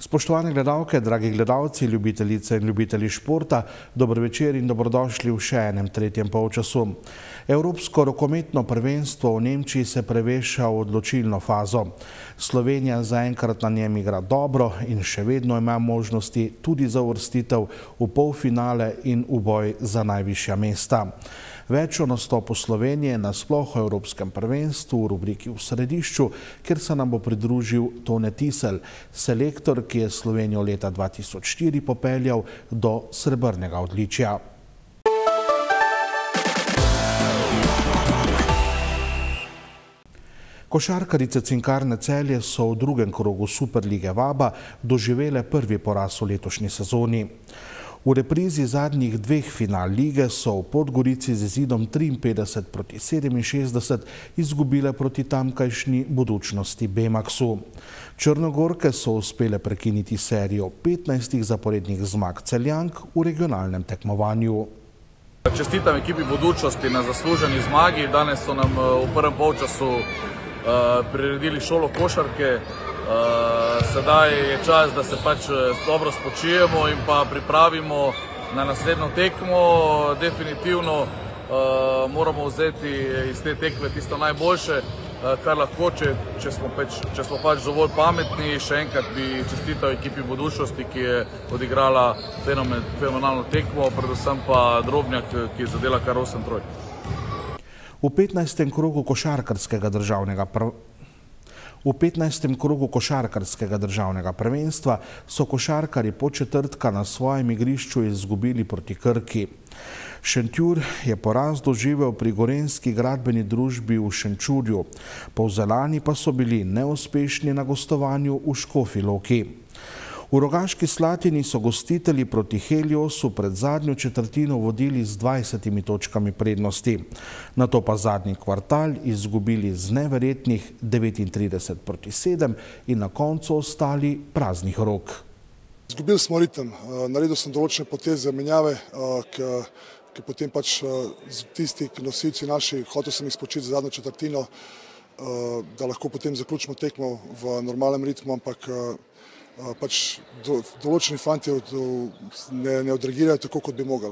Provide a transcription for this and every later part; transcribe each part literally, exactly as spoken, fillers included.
Spoštovane gledalke, dragi gledalci, ljubitelice in ljubitelji športa, dober večer in dobrodošli v še enem tretjem polčasu. Evropsko rokometno prvenstvo v Nemčiji se preveša v odločilno fazo. Slovenija zaenkrat na njem igra dobro in še vedno ima možnosti tudi za uvrstitev v polfinale in v boj za najvišja mesta. Več o nastopu Slovenije nasploh o Evropskem prvenstvu v rubriki V središču, kjer se nam bo pridružil Tone Tisel, selektor, ki je Slovenijo leta dva tisoč štiri popeljal do srebrnega odličja. Košarkarice Cinkarne Celje so v drugem krogu Superlige Vaba doživele prvi poraz v letošnji sezoni. V reprizi zadnjih dveh final lige so v Podgorici z izidom triinpetdeset proti sedeminšestdeset izgubile proti tamkajšnji Budućnosti Bemaxu. Črnogorke so uspele prekiniti serijo petnajstih zaporednih zmag Celjank v regionalnem tekmovanju. Čestitam ekipi Budućnosti na zasluženi zmagi. Danes so nam v prvem polčasu priredili šolo košarke. Sedaj je čas, da se pač dobro spočijemo in pa pripravimo na naslednjo tekmo. Definitivno moramo vzeti iz te tekme tisto najboljše, kar lahko, če smo pač dovolj pametni. Še enkrat bi čestital ekipi Budućnosti, ki je odigrala fenomenalno tekmo, predvsem pa Drobnjak, ki je zadela kar osem trojk. V petnajstem krogu košarkarskega državnega prvenstva V petnajstem krogu košarkarskega državnega prvenstva so košarkarji Podčetrtka na svojem igrišču izgubili proti Krki. Šentjur je poraz doživel pri gorenjski gradbeni družbi v Šenčurju, Polzeljani pa so bili neuspešni na gostovanju v Škofji Loki. V Rogaški Slatini so gostitelji proti Heliosu pred zadnjo četrtino vodili z dvajsetimi točkami prednosti. Nato pa zadnji kvartal izgubili z neverjetnih devetintrideset proti sedem in na koncu ostali praznih rok. Izgubili smo ritem, naredil sem določene poteze, menjave, ki potem pač tisti nosilci naši, hotel sem jih spočiti za zadnjo četrtino, da lahko potem zaključimo tekmo v normalnem ritmu, ampak pač določeni fanti ne odreagirajo tako, kot bi mogli.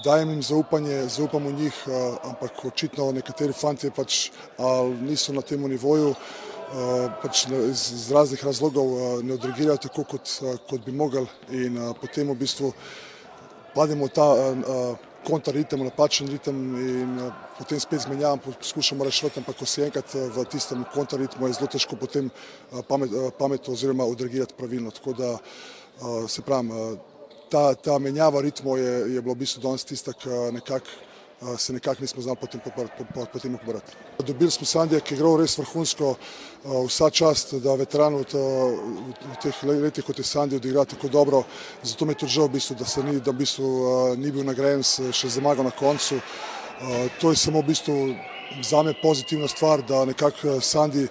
Dajem jim zaupanje, zaupam v njih, ampak očitno nekateri fanti pač niso na tem nivoju, pač iz raznih razlogov ne odreagirajo tako, kot bi mogli in potem v bistvu pademo v ta kontraritem, napačen ritem in potem spet zmenjavam, poskušamo rešiti, ampak ko si enkrat v tistem kontraritmu je zelo težko potem pametno oziroma odreagirati pravilno. Tako da se pravim, ta menjava ritmov je bilo v bistvu danes tista, ki se nekako nismo znali potem pobrati. Dobili smo Sandija, ki je igral res vrhunsko, vsa čast, da veteran v teh letih, kot je Sandi, odigra tako dobro. Zato mi je tudi žal, da v bistvu ni bil nagrajen še zmago na koncu. To je samo v bistvu zame pozitivna stvar, da nekako Sandi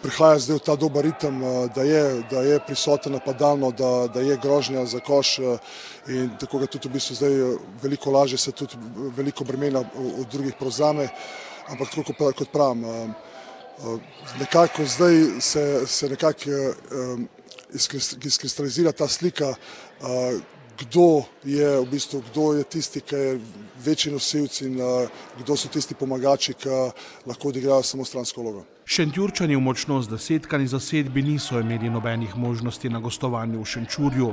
prihaja zdaj v ta dober ritem, da je prisoten napadalno, da je grožnja za koš in tako ga tudi v bistvu zdaj veliko lažje se tudi veliko bremena od drugih prevzame, ampak tako kot pravim, nekako zdaj se nekako izkristalizira ta slika, kdo je v bistvu, kdo je tisti, ki je večji nosilci in kdo so tisti pomagači, ki lahko odigrajo samo stransko vlogo. Šentjurčani v močno zdesetkani zasedbi niso imeli nobenih možnosti na gostovanju v Šenčurju.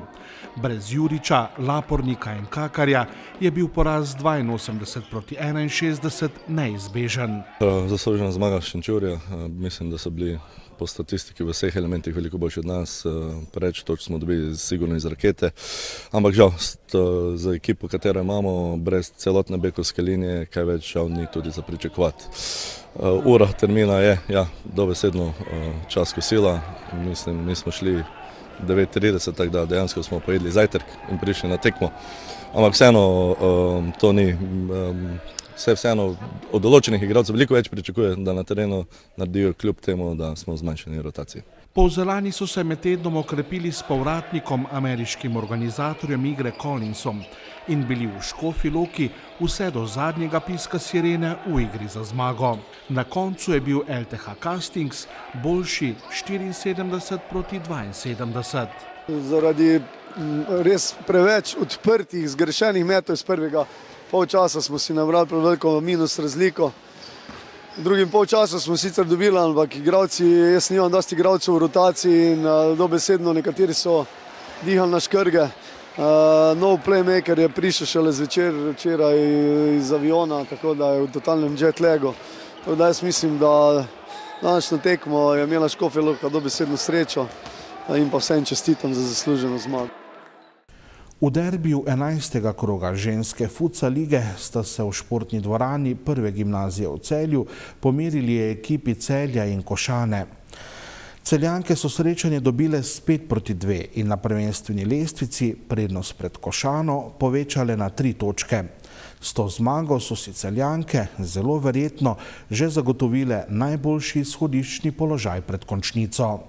Brez Juriča, Lapornika in Kakarja je bil poraz dvainosemdeset proti enainšestdeset neizbežen. Zaslužena zmaga Šenčurja, mislim, da so bili po statistiki v vseh elementih veliko boljši od nas, preveč točk smo dobili sigurno iz rakete, ampak žal za ekipo, katero imamo, brez celotne bekovske linije, kaj več žal ni tudi za pričakovati. Ura termina je, ja, dobesedno čas kosila, mislim, mi smo šli devet trideset, tako da dejansko smo pojedli zajtrk in prišli na tekmo, ampak vseeno to ni, vse vseeno od določenih igralcev veliko več pričakuje, da na terenu naredijo kljub temu, da smo v zmanjšani rotaciji. Polzeljani so se med tednom okrepili s povratnikom, ameriškim organizatorjem igre Collinsom. in bili v Škofji Loki vse do zadnjega piska sirene v igri za zmago. Na koncu je bil L T H Kastings boljši štiriinsedemdeset proti dvainsedemdeset. Zaradi res preveč odprtih, zgrešenih metov iz prvega polčasa smo si nabrali preveliko minus razliko. V drugim polčasu smo sicer dobili, ampak igralci, jaz nimam dosti igralcev v rotaciji in dobesedno nekateri so dihali na škrge. Nov playmaker je prišel šele zvečer včeraj iz aviona, tako da je v totalnem jet lagu. Tako da jaz mislim, da današnjo tekmo je imela Škofja Loka dobesedno srečo in pa vsem čestitam za zasluženo zmago. V derbiju enajstega kroga ženske futsal lige sta se v športni dvorani prve gimnazije v Celju pomerili ekipi Celja in Košane. Celjanke so srečanje dobile s pet proti dve in na prvenstveni lestvici prednost pred Košano povečale na tri točke. S to zmago so si Celjanke zelo verjetno že zagotovile najboljši izhodiščni položaj pred končnico.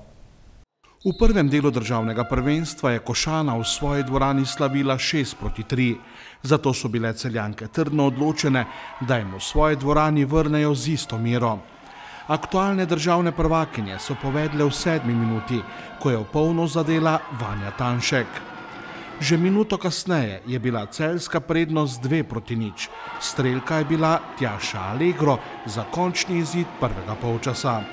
V prvem delu državnega prvenstva je Košana v svoji dvorani slavila šest proti tri, zato so bile Celjanke trdno odločene, da jim v svoji dvorani vrnejo z isto mero. Aktualne državne prvakinje so povedle v sedmi minuti, ko je v polno zadela Vanja Tanšek. Že minuto kasneje je bila celjska prednost dve proti nič, strelka je bila Tjaša Allegro za končni izid prvega polčasa.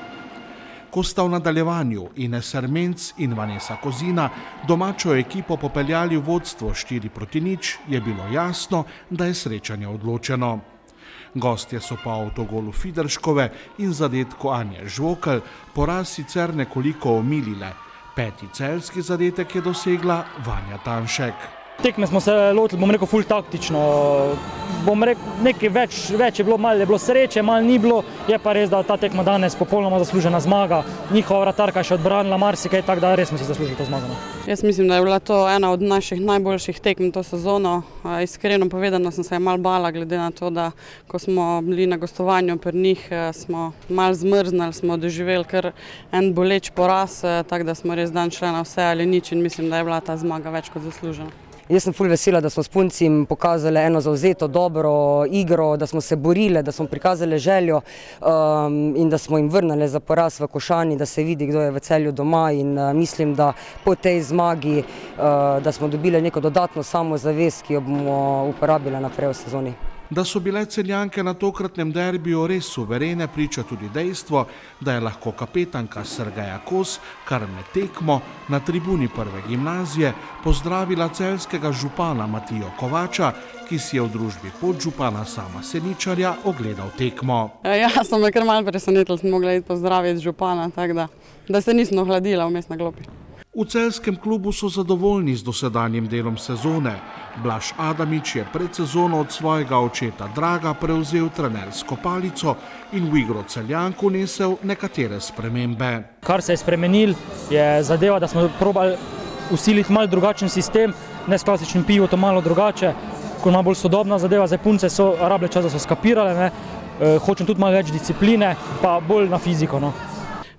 Ko sta v nadaljevanju Ines Ermenc in Vanessa Kozina domačo ekipo popeljali v vodstvo štiri proti nič, je bilo jasno, da je srečanje odločeno. Gostje so po avtogolu Fiderškove in zadetku Anje Žvokelj poraz sicer nekoliko omilile. Peti celjski zadetek je dosegla Vanja Tanšek. Tekme smo se lotili, bom rekel, ful taktično. Bom rekel, nekaj več, več je bilo, malo je bilo sreče, malo ni bilo. Je pa res, da ta tekma danes popolnoma zaslužena zmaga. Njihova vratarka je še odbranila marsikaj, tako da res smo si zaslužili to zmago. Jaz mislim, da je bila to ena od naših najboljših tekm to sezono. Iskreno povedano sem se malo bala, glede na to, da ko smo bili na gostovanju pri njih, smo malo zmrznali, smo doživeli kar en boleč poraz, tako da smo res dan šli na vse ali nič in mislim, da je bila ta zmaga več kot zaslužena. Jaz sem ful vesela, da smo s puncim pokazali eno zavzeto, dobro igro, da smo se borili, da smo prikazali željo um, in da smo jim vrnili za poraz v Košani, da se vidi, kdo je v Celju doma in uh, mislim, da po tej zmagi, uh, da smo dobili neko dodatno samozavest, ki jo bomo uporabili naprej v sezoni. Da so bile Celjanke na tokratnem derbiju res suverene, priča tudi dejstvo, da je lahko kapetanka Sergeja Kos kar med tekmo na tribuni prve gimnazije pozdravila celjskega župana Matijo Kovača, ki si je v družbi podžupana Sama Seničarja ogledal tekmo. Ja, sem me kar malo presenetila, sem mogla iti pozdraviti župana, tako da, da se nisem ohladila vmes na klopi. V celjskem klubu so zadovoljni z dosedanjim delom sezone. Blaž Adamič je pred sezono od svojega očeta Draga prevzel trenersko palico in v igro Celjank vnesel nekatere spremembe. Kar se je spremenil, je zadeva, da smo probali usiliti malo drugačen sistem, ne s klasičnim pivotom, malo drugače, ko ima bolj sodobna zadeva, zdaj punce so rabile čas, da so skapirale, ne. E, hočem tudi malo več discipline, pa bolj na fiziko. No.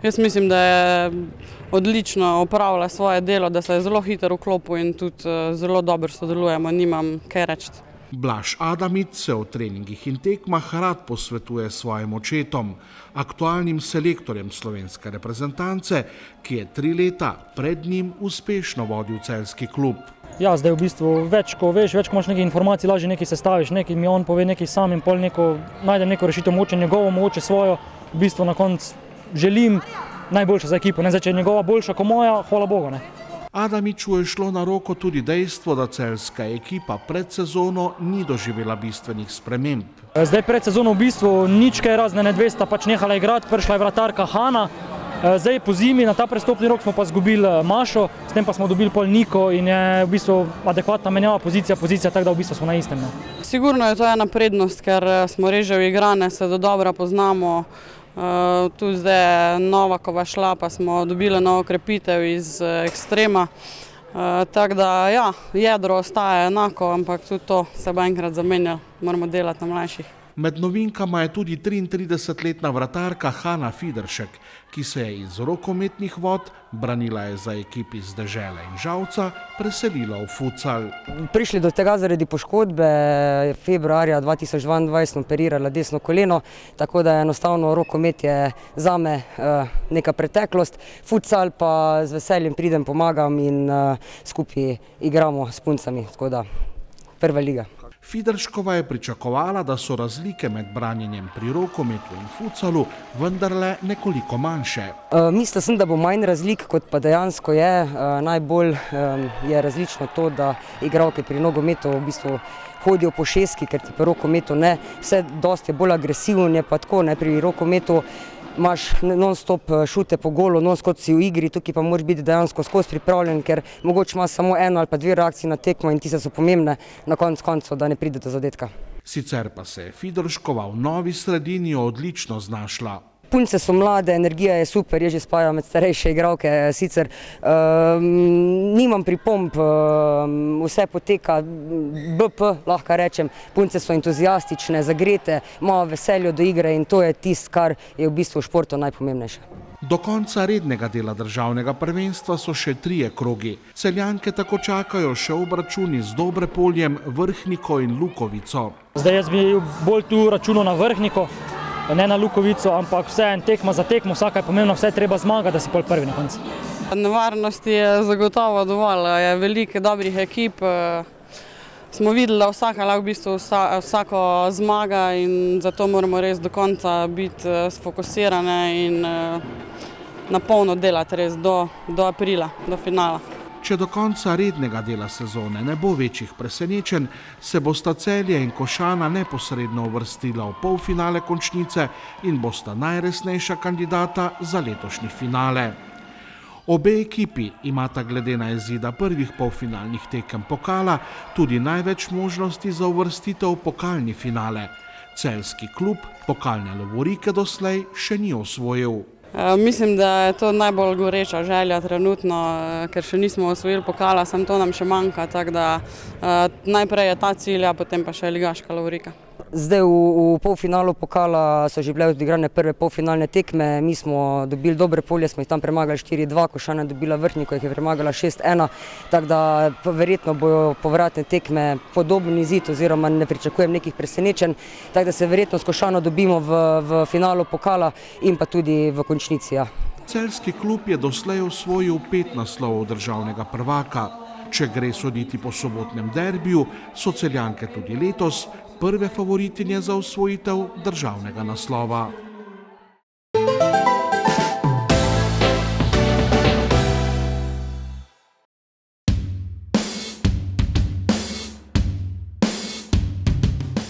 Jaz mislim, da je odlično opravila svoje delo, da se je zelo hitro vklopil in tudi zelo dobro sodelujemo, nimam kaj reči. Blaž Adamič se v treningih in tekmah rad posvetuje svojim očetom, aktualnim selektorjem slovenske reprezentance, ki je tri leta pred njim uspešno vodil celjski klub. Ja, zdaj v bistvu več, ko veš, več, ko imaš nekaj informacij, lažje nekaj sestaviš, nekaj mi on pove nekaj sam in pol neko, najdem neko rešitev, moče njegovo, moče svojo, v bistvu na koncu želim najboljše za ekipo, ne zdaj, če je njegova boljša kot moja, hvala Bogu, ne. Adamiču je šlo na roko tudi dejstvo, da celjska ekipa pred sezono ni doživela bistvenih sprememb. Zdaj pred sezono v bistvu nič kaj razne nedvesta pač nehala igrati, prišla je vratarka Hana, zdaj po zimi na ta prestopni rok smo pa zgubili Mašo, s tem pa smo dobili pol Niko in je v bistvu adekvatna menjava pozicija, pozicija, tako da v bistvu smo na istem. Sigurno je to ena prednost, ker smo res že uigrane, se do dobra poznamo. Uh, tu zdaj Novakova šla, pa smo dobili novo krepitev iz uh, ekstrema. Uh, tako da, ja, jedro ostaja enako, ampak tudi to se bo enkrat zamenjalo, moramo delati na mlajših. Med novinkama je tudi triintridesetletna vratarka Hana Fideršek, ki se je iz rokometnih vod, branila je za ekipi z Dežele in Žalca, preselila v futsal. Prišli do tega zaradi poškodbe, februarja dva tisoč dvaindvajset sem operirala desno koleno, tako da enostavno rokomet je zame neka preteklost. Futsal pa z veseljem pridem, pomagam in skupaj igramo s puncami, tako da prva liga. Fiderškova je pričakovala, da so razlike med branjenjem pri rokometu in futsalu vendarle nekoliko manjše. Mislila sem, da bo manj razlik, kot pa dejansko je. Najbolj je različno to, da igralke pri nogometu v bistvu hodijo po šestki, ker ti pri rokometu ne. Vse dosti je bolj agresivno, je pa tako, ne, pri rokometu imaš non-stop šute po golu, non-stop si v igri, tukaj pa moraš biti dejansko skozi pripravljen, ker mogoče imaš samo eno ali pa dve reakcije na tekmo in tiste so pomembne na koncu koncev, da ne pride do zadetka. Sicer pa se je Fiderškova v novi sredini odlično znašla. Punce so mlade, energija je super, je že spaja med starejše igralke, sicer nimam pripomb, vse poteka B P, lahko rečem, punce so entuzijastične, zagrete, imajo veselje do igre in to je tisto, kar je v bistvu v športu najpomembnejše. Do konca rednega dela državnega prvenstva so še trije krogi. Celjanke tako čakajo še obračuni z Dobrepoljem, Vrhniko in Lukovico. Zdaj jaz bi bolj tu računal na Vrhniko, ne na Lukovico, ampak vse en tekma za tekmo, vsaka je pomembna, vse je treba zmagati, da si pol prvi na koncu. Nevarnosti je zagotovo dovolj, je veliko dobrih ekip. Smo videli, da vsaka lahko v bistvu vsako zmaga in zato moramo res do konca biti sfokusirane in na polno delati res do aprila, do finala. Če do konca rednega dela sezone ne bo večjih presenečenj, se bosta Celje in Košana neposredno uvrstila v polfinale končnice in bosta najresnejša kandidata za letošnji finale. Obe ekipi imata glede na izida prvih polfinalnih tekem pokala tudi največ možnosti za uvrstitev v pokalni finale. Celjski klub pokalne lovorike doslej še ni osvojil. Mislim, da je to najbolj goreča želja trenutno, ker še nismo osvojili pokala, samo to nam še manjka, tako da najprej je ta cilj, a potem pa še ligaška lovorika. Zdaj v polfinalu pokala so že bile odigrane prve polfinalne tekme, mi smo dobili Dobrepolje, smo jih tam premagali štiri dva, Košana je dobila Vrhniko, jih je premagala šest ena, tako da verjetno bojo povratne tekme podoben izid oziroma ne pričakujem nekih presenečenj, tako da se verjetno s Košano dobimo v finalu pokala in pa tudi v končnici. Celjski klub je doslej osvojil pet naslovov državnega prvaka. Če gre soditi po sobotnem derbiju, so Celjanke tudi letos prve favoritinje za osvojitev državnega naslova.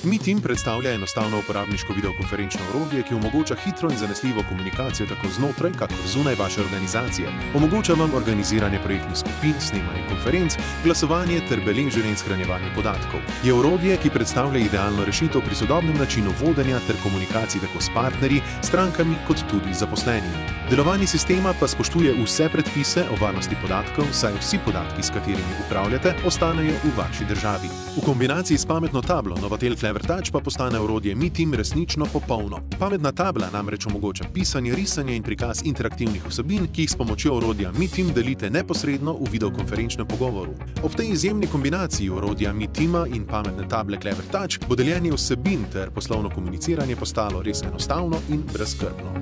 MeTeam predstavlja enostavno uporabniško videokonferenčno orodje, ki omogoča hitro in zanesljivo komunikacijo tako znotraj, kakor zunaj vaše organizacije. Omogoča vam organiziranje projektnih skupin, snemanje konferenc, glasovanje ter beleženje in shranjevanje podatkov. Je orodje, ki predstavlja idealno rešitev pri sodobnem načinu vodenja ter komunikaciji tako s partnerji, strankami kot tudi zaposlenimi. Delovanje sistema pa spoštuje vse predpise o varnosti podatkov, saj vsi podatki, s katerimi upravljate, ostanejo v vaši državi. V kombinaciji s pametno tablo Novatel Clever Touch pa postane orodje MeTeam resnično popolno. Pametna tabla namreč omogoča pisanje, risanje in prikaz interaktivnih vsebin, ki jih s pomočjo orodja MeTeam delite neposredno v videokonferenčnem pogovoru. Ob tej izjemni kombinaciji orodja MeTeama in pametne table Clever Touch bo deljenje vsebin ter poslovno komuniciranje postalo res enostavno in brezskrbno.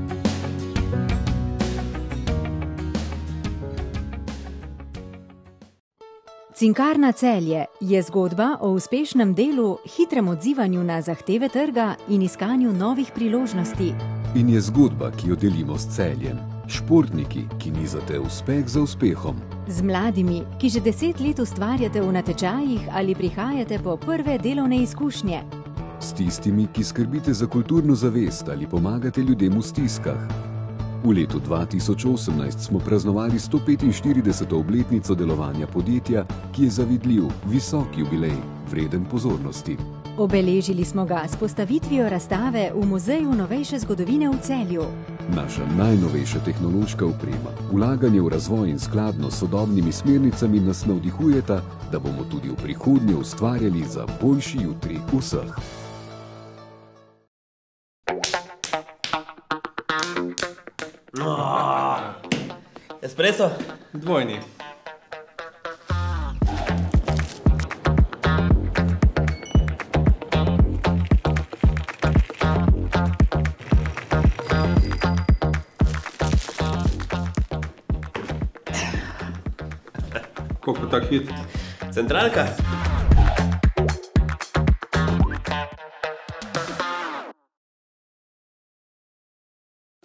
Cinkarna Celje je zgodba o uspešnem delu, hitrem odzivanju na zahteve trga in iskanju novih priložnosti. In je zgodba, ki jo delimo s Celjem. Športniki, ki nizate uspeh za uspehom. Z mladimi, ki že deset let ustvarjate v natečajih ali prihajate po prve delovne izkušnje. S tistimi, ki skrbite za kulturno zavest ali pomagate ljudem v stiskah. V letu dva tisoč osemnajst smo praznovali sto petinštirideseto obletnico delovanja podjetja, ki je zavidljiv, visok jubilej, vreden pozornosti. Obeležili smo ga s postavitvijo razstave v Muzeju novejše zgodovine v Celju. Naša najnovejša tehnološka oprema, vlaganje v razvoj in skladno s sodobnimi smernicami nas navdihujeta, da bomo tudi v prihodnje ustvarjali za boljši jutri vseh. Espresso? Dvojni. Koliko tak hit? Centralka?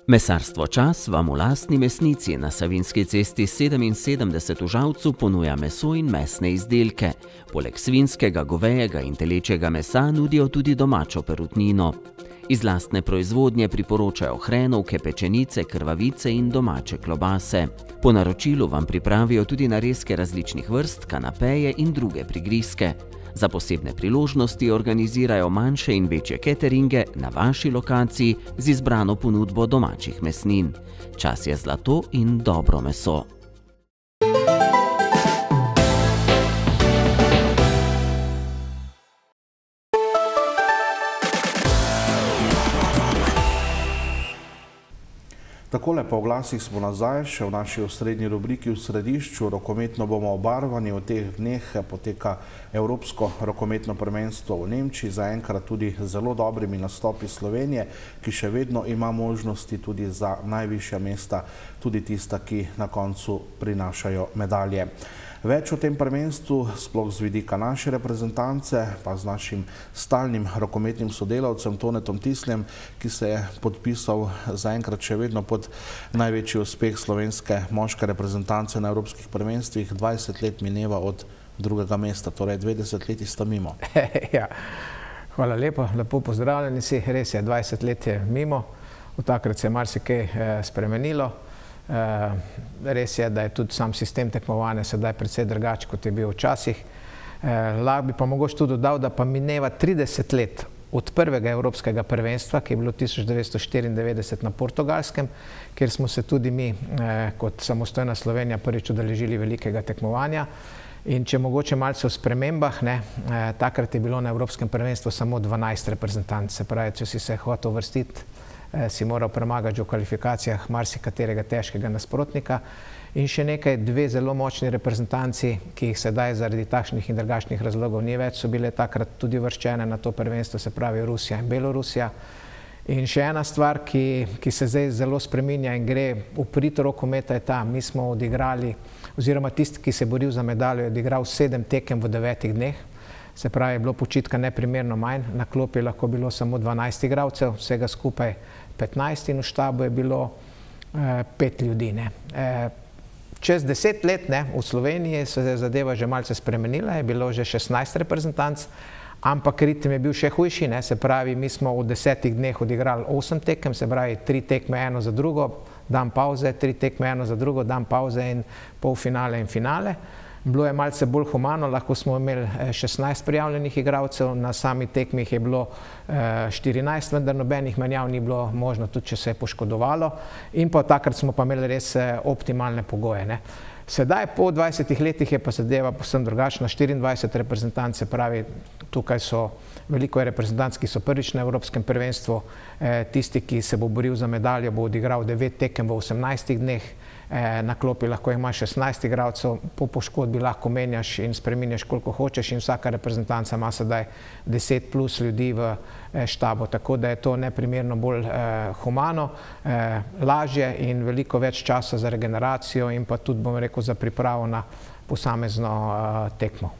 Mesarstvo Čas vam v lastni mesnici na Savinjski cesti sedeminsedemdeset v Žalcu ponuja meso in mesne izdelke. Poleg svinjskega, govejega in telečjega mesa nudijo tudi domačo perutnino. Iz lastne proizvodnje priporočajo hrenovke, pečenice, krvavice in domače klobase. Po naročilu vam pripravijo tudi narezke različnih vrst, kanapeje in druge prigrizke. Za posebne priložnosti organizirajo manjše in večje cateringe na vaši lokaciji z izbrano ponudbo domačih mesnin. Čas je zlato in dobro meso. Takole po oglasih smo nazaj, še v naši osrednji rubriki v središču. Rokometno bomo obarvani. V teh dneh poteka Evropsko rokometno prvenstvo v Nemčiji, zaenkrat tudi zelo dobrimi nastopi Slovenije, ki še vedno ima možnosti tudi za najvišja mesta, tudi tista, ki na koncu prinašajo medalje. Več o tem prvenstvu, sploh z vidika naše reprezentance, pa z našim stalnim rokometnim sodelavcem Tonetom Tisljem, ki se je podpisal zaenkrat še vedno pod največji uspeh slovenske moške reprezentance na evropskih prvenstvih. dvajset let mineva od drugega mesta, torej dve desetletji sta mimo. Ja, hvala lepo, lepo pozdravljeni si. Res je, dvajset let je mimo, od takrat se je marsikaj spremenilo. Res je, da je tudi sam sistem tekmovanja sedaj precej drugačen, kot je bil včasih. Lahko bi pa mogoče tudi dodal, da pa mineva trideset let od prvega evropskega prvenstva, ki je bilo tisoč devetsto štiriindevetdeset na Portugalskem, kjer smo se tudi mi kot samostojna Slovenija prvič udeležili velikega tekmovanja. In če mogoče malce o spremembah, takrat je bilo na evropskem prvenstvu samo dvanajst reprezentanc, se pravi, če si se hotel uvrstiti, si moral premagati že v kvalifikacijah marsikaterega težkega nasprotnika. In še nekaj, dve zelo močni reprezentanci, ki jih sedaj zaradi takšnih in drugačnih razlogov ni več, so bile takrat tudi uvrščene na to prvenstvo, se pravi Rusija in Belorusija. In še ena stvar, ki, ki se zdaj zelo spreminja in gre v prid rokometa, je ta, mi smo odigrali, oziroma tisti, ki se je boril za medaljo, je odigral sedem tekem v devetih dneh. Se pravi, je bilo počitka neprimerno manj, na klopi je lahko bilo samo dvanajst igralcev, vsega skupaj petnajst in v štabu je bilo eh, pet ljudi. Ne. Eh, čez deset let ne, v Sloveniji se je zadeva že malce spremenila, je bilo že šestnajst reprezentanc, ampak ritem je bil še hujši, ne. Se pravi, mi smo v desetih dneh odigrali osem tekem, se pravi, tri tekme eno za drugo, dan pauze, tri tekme eno za drugo, dan pauze in polfinale in finale. Bilo je malce bolj humano, lahko smo imeli šestnajst prijavljenih igralcev, na sami tekmi jih je bilo štirinajst, vendar nobenih menjav ni bilo možno, tudi če se je poškodovalo. In pa takrat smo pa imeli res optimalne pogoje. Ne. Sedaj, po dvajsetih letih, je pa zadeva povsem drugačna, štiriindvajset reprezentanc, se pravi, tukaj so veliko reprezentanc, ki so prvič na evropskem prvenstvu, tisti, ki se bo boril za medaljo, bo odigral devet tekem v osemnajstih dneh, na klopi lahko ima šestnajst igralcev, po poškodbi lahko menjaš in spreminjaš koliko hočeš in vsaka reprezentanca ima sedaj deset plus ljudi v štabu, tako da je to neprimerno bolj humano, lažje in veliko več časa za regeneracijo in pa tudi, bom rekel, za pripravo na posamezno tekmo.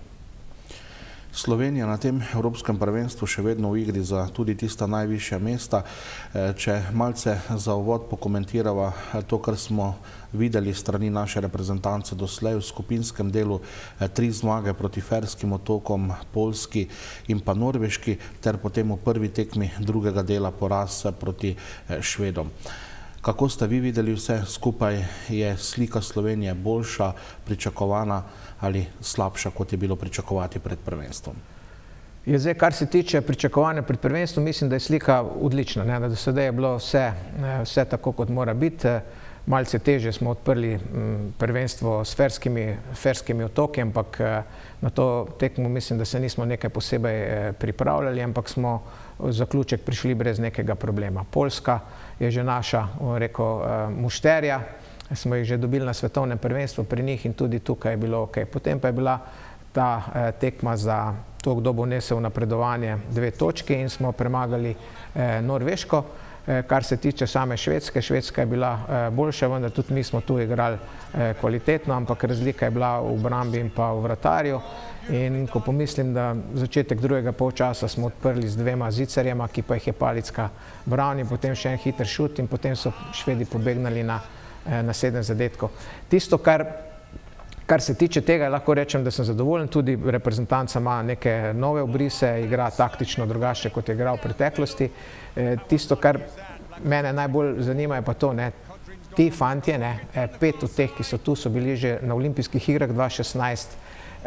Slovenija na tem evropskem prvenstvu še vedno v igri za tudi tista najvišja mesta. Če malce za uvod pokomentirava to, kar smo videli strani naše reprezentance doslej v skupinskem delu, tri zmage proti Ferskim otokom, Poljski in pa Norveški, ter potem v prvi tekmi drugega dela poraz proti Švedom. Kako ste vi videli vse skupaj? Je slika Slovenije boljša, pričakovana ali slabša, kot je bilo pričakovati pred prvenstvom? Je zdaj, kar se tiče pričakovanja pred prvenstvom, mislim, da je slika odlična. Ne? Da do sedaj je bilo vse, vse tako, kot mora biti. Malce težje smo odprli prvenstvo s Ferskimi, Ferskimi otoki, ampak na to tekmo mislim, da se nismo nekaj posebej pripravljali, ampak smo v zaključek prišli brez nekega problema. Poljska je že naša, rekel, mušterja, smo jih že dobili na svetovnem prvenstvu pri njih in tudi tukaj je bilo ok. Potem pa je bila ta eh, tekma za to, kdo bo nesel napredovanje dve točki in smo premagali eh, Norveško. Eh, kar se tiče same Švedske, Švedska je bila eh, boljša, vendar tudi mi smo tu igrali eh, kvalitetno, ampak razlika je bila v obrambi in pa v vratarju. In ko pomislim, da začetek drugega polčasa smo odprli z dvema zicerjema, ki pa jih je Palicka branil, potem še en hiter šut in potem so Švedi pobegnali na, na sedem zadetkov. Tisto, kar, kar se tiče tega, lahko rečem, da sem zadovoljen, tudi reprezentanca ima neke nove obrise, igra taktično drugače, kot je igral v preteklosti. Tisto, kar mene najbolj zanima, je pa to, ne, ti fantje, ne, pet od teh, ki so tu, so bili že na olimpijskih igrah dva šestnajst,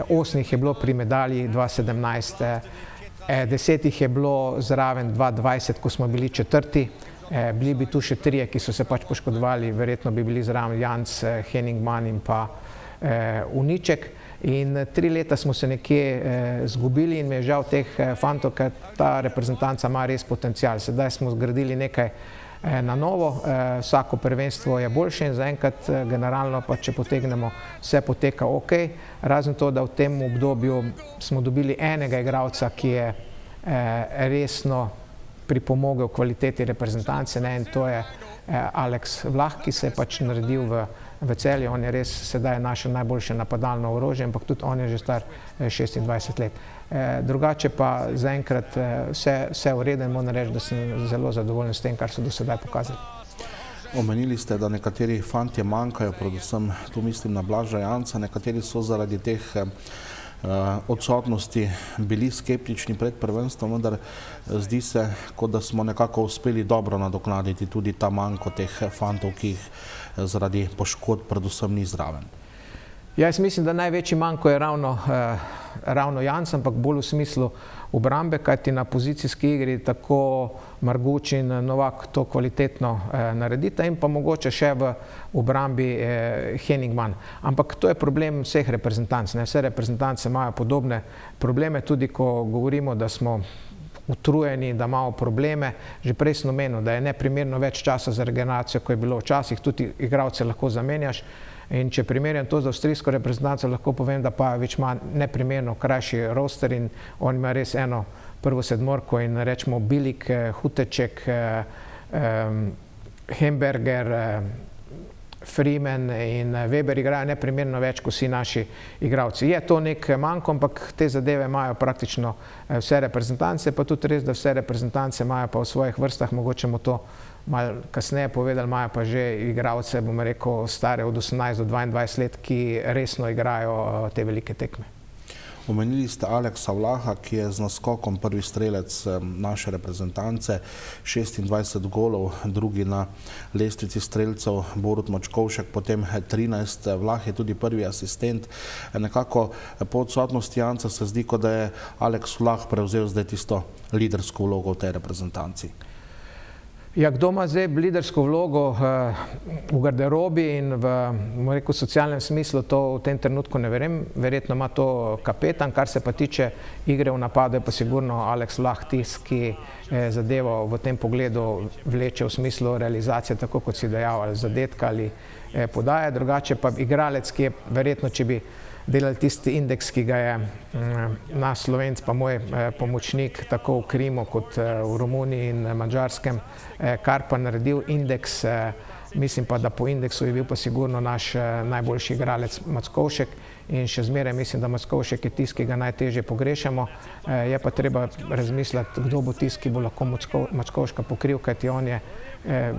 osem jih je bilo pri medalji dva sedemnajst, deset jih je bilo zraven dva dvajset, ko smo bili četrti, bili bi tu še trije, ki so se pač poškodovali, verjetno bi bili zraven Janc, Henningman in pa Uniček. In tri leta smo se nekje zgubili in mi je žal teh fantov, ker ta reprezentanca ima res potencial. Sedaj smo zgradili nekaj na novo, vsako prvenstvo je boljše in zaenkrat generalno pa, če potegnemo, vse poteka ok, razen to, da v tem obdobju smo dobili enega igralca, ki je resno pripomogel kvaliteti reprezentance, ne, in to je Alex Vlah, ki se je pač naredil v, v Celju. On je res sedaj naše najboljše napadalno orožje, ampak tudi on je že star šestindvajset let. E, drugače pa zaenkrat vse, vse v redu in moram reči, da sem zelo zadovoljen s tem, kar so do sedaj pokazali. Omenili ste, da nekateri fantje manjkajo, predvsem tu mislim na Blaža Janca, nekateri so zaradi teh odsotnosti bili skeptični pred prvenstvom, vendar zdi se, kot da smo nekako uspeli dobro nadoknaditi tudi ta manjko teh fantov, ki jih zaradi poškodb predvsem ni zraven. Jaz mislim, da največji manjko je ravno, eh, ravno Janc, ampak bolj v smislu obrambe, kajti na pozicijski igri tako Marguč in Novak to kvalitetno eh, naredita in pa mogoče še v obrambi eh, Henningman. Ampak to je problem vseh reprezentanc. Ne? Vse reprezentance imajo podobne probleme, tudi ko govorimo, da smo utrujeni, da imamo probleme. Že prej sem omenil, da je neprimerno več časa za regeneracijo, ko je bilo včasih, tudi igralce lahko zamenjaš. In če primerjam to z avstrijsko reprezentanco, lahko povem, da Pajović ima neprimerno krajši roster in on ima res eno prvo sedmorko in rečemo Bilik, Huteček, Hemberger, Freeman in Weber igrajo neprimerno več kot vsi naši igralci. Je to nek manjko, ampak te zadeve imajo praktično vse reprezentance, pa tudi res, da vse reprezentance imajo pa v svojih vrstah, mogoče bomo to malo kasneje povedali, imajo pa že igralce, bom rekel, stare od osemnajst do dvaindvajset let, ki resno igrajo te velike tekme. Omenili ste Aleksa Vlaha, ki je z naskokom prvi strelec naše reprezentance, šestindvajset golov, drugi na lestvici strelcev Borut Mačkovšek, potem trinajst, Vlah je tudi prvi asistent. Nekako po odsotnosti Janca se zdi, kot da je Aleks Vlah prevzel zdaj tisto lidersko vlogo v tej reprezentanci. Ja, kdo ima zdaj lidersko vlogo v garderobi in v, rekel, socialnem smislu, to v tem trenutku ne verjamem. Verjetno ima to kapetan, kar se pa tiče igre v napadu, je pa sigurno Aleks Vlah tisti, ki zadevo v tem pogledu vleče v smislu realizacije, tako kot si dejal, ali zadetka ali podaje. Drugače pa igralec, ki je verjetno, če bi delali tisti indeks, ki ga je naš Slovenc, pa moj pomočnik, tako v Krimu kot v Romuniji in Madžarskem, kar pa naredil indeks, mislim pa, da po indeksu je bil pa sigurno naš najboljši igralec Mackovšek in še zmeraj mislim, da Mackovšek je tisti, ki ga najtežje pogrešamo. Je pa treba razmisliti, kdo bo tisti, ki bo lahko Mackovška pokril, kajti on je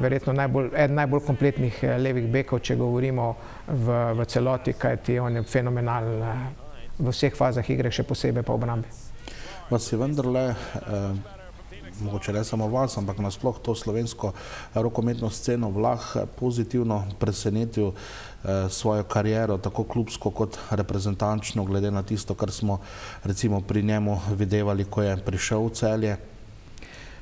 verjetno najbolj, eden najbolj kompletnih levih bekov, če govorimo v, v celoti, kajti on je fenomenalen v vseh fazah igre, še posebej pa v obrambi. Vas je vendarle, eh, mogoče ne samo vas, ampak nasploh to slovensko rokometno sceno Vlah pozitivno presenetil eh, svojo kariero, tako klubsko kot reprezentančno, glede na tisto, kar smo recimo pri njemu videvali, ko je prišel v Celje?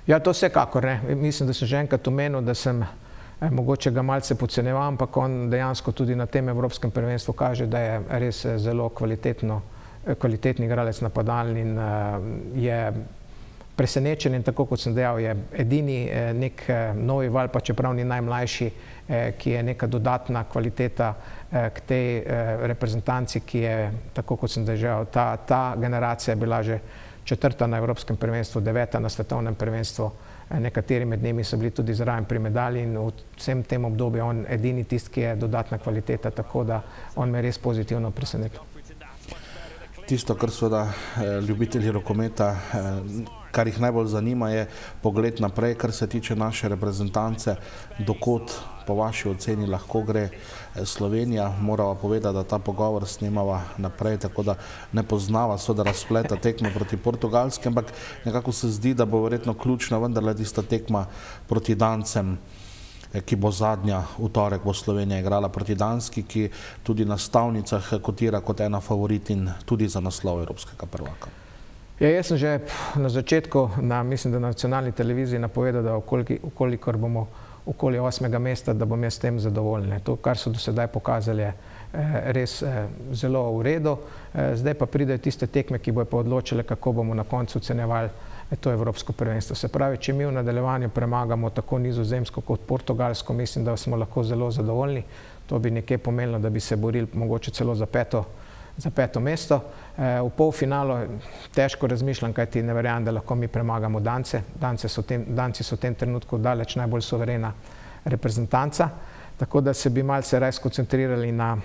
Ja, to vsekakor ne. Mislim, da sem že enkrat omenil, da sem eh, mogoče ga malce podcenjeval, ampak on dejansko tudi na tem evropskem prvenstvu kaže, da je res zelo kvalitetno, kvalitetni igralec napadalni in uh, je presenečen in tako kot sem dejal, je edini nek novi val, pa čeprav ni najmlajši, ki je neka dodatna kvaliteta k tej reprezentanci, ki je, tako kot sem dejal, ta, ta generacija je bila že četrta na Evropskem prvenstvu, deveta na svetovnem prvenstvu, nekateri med njimi so bili tudi zraven pri medalji in v vsem tem obdobju on edini tist, ki je dodatna kvaliteta, tako da on me res pozitivno presenetil. Tisto, kar seveda ljubitelji rokometa, kar jih najbolj zanima, je pogled naprej, kar se tiče naše reprezentance, dokot po vaši oceni lahko gre Slovenija. Morava povedati, da ta pogovor snemava naprej, tako da ne poznava seveda razpleta tekme proti Portugalski, ampak nekako se zdi, da bo verjetno ključna vendarle tista tekma proti Dancem, ki bo zadnja, v torek bo Slovenija igrala proti Danski, ki tudi na stavnicah kotira kot ena favoritin tudi za naslov evropskega prvaka. Ja, jaz sem že na začetku, na, mislim, da na nacionalni televiziji napovedal, da ukolikor bomo okoli osmega mesta, da bom jaz s tem zadovoljen. To, kar so do sedaj pokazali, je res zelo v redu. Zdaj pa pridejo tiste tekme, ki bojo pa odločile, kako bomo na koncu ocenjevali to evropsko prvenstvo. Se pravi, če mi v nadaljevanju premagamo tako Nizozemsko kot Portugalsko, mislim, da smo lahko zelo zadovoljni. To bi nekje pomenilo, da bi se borili mogoče celo za peto, za peto mesto. V polfinalu težko razmišljam, kajti ne verjamem, da lahko mi premagamo Dance. Danci so v tem trenutku daleč najbolj suverena reprezentanca, tako da se bi malce raje skoncentrirali na